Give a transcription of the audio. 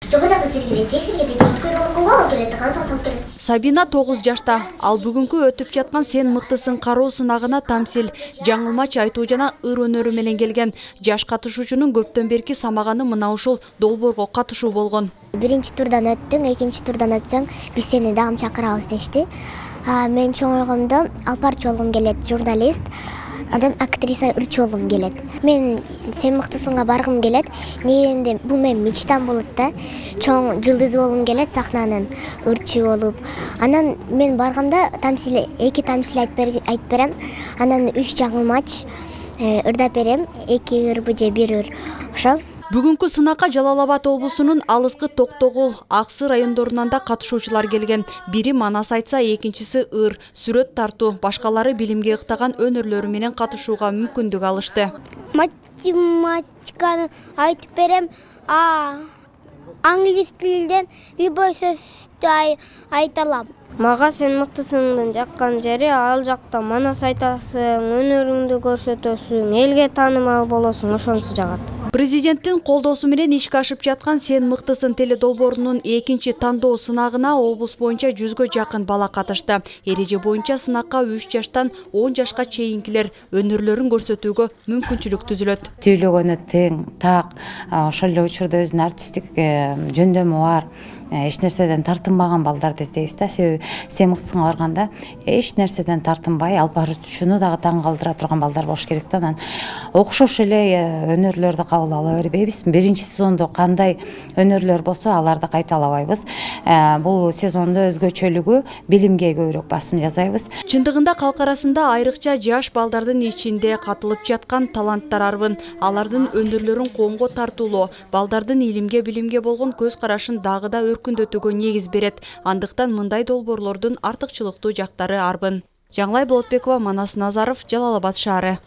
Жогору жакта сергелесе, сергелде өткөрүп койгон келет, канча салып келет. Сабина 9 жашта. Ал бүгүнкү өтүп жаткан Сен мыктысың кароо сынагына тамсил, жаңылмач айтуу жана ыр өнөрү менен келген. Жаш катышуучунун көптөн берки самаганы мына ушул долбоорго катышуу болгон. Биринчи турдан өттүң, экинчи турдан өтсөң, биз сени дагы чакырабыз дешти. Мен чоң ойгомдо алпарчы болгум келет, журналист. Андан актриса ырчы болгум келет. Мен Сен мыктысыңга баргым келет. Негенде бул менин мечтам болот да. Чоң жылдыз болгум келет сахнанын, ырчы болуп. Анан мен барганда эки тамсил айтып берем. Анан 3 жаңылмач ырдап берем. 2 ыр же 1 ыр. Ошо. Бүгүнкү сынакка Жалал Абад облусунун алыскы Токтогул, Аксы райондорунан да катышуучулар келген. Бири манас айтса, экинчиси ыр, сүрөт тартуу, башкалары билимге ыктаган өнөрлөрү менен катышууга мүмкүндүк алышты. Математиканы айтып берем. Англис тилинен любой сөздү айта алам. Мага Сен мыктысыңдын жаккан жери ал жакта манас айтасың, өнөрүңдү көрсөтөсүң, элге таанымал болосуң, ошонусу жагат. Президенттин колдоосу менен ишке ашып жаткан Сен мыктысың теледолбоорунун экинчи тандоо сынагына облус боюнча 100гө жакын бала катышты. Эреже боюнча сынакка 3 жаштан 10 жашка чейинкилер өнөрлөрүн көрсөтүүгө мүмкүнчүлүк түзүлөт. Сүйлөгөнү тең, так, ошол эле учурда өзүнүн артисттик жөндөмү бар. Эч нерседен тартынбаган балдарды издейбиз да. Себеби Сен мыктысыңга барганда эч нерседен тартынбай, алып баруучуну дагы таң калтыра турган балдар болуш керек да. Анан окшош эле өнөрлөрдү кабыл ала бербейбиз. Биринчи сезондо кандай өнөрлөр болсо, аларды кайталабайбыз. Бул сезондо өзгөчөлүгү билимге көбүрөөк басым жасайбыз. Чындыгында калк арасында айрыкча жаш балдардын ичинде катылып жаткан таланттар арбын. Алардын өнөрлөрүн коомго тартуулоо, балдардын илимге, билимге болгон көз карашын дагы да өркүндөтүүгө негиз берет. Андыктан мындай долбоорлордун артыкчылыктуу жактары арбын. Жаңылай Болотбекова, Манас Назаров, Жалал Абад шаары.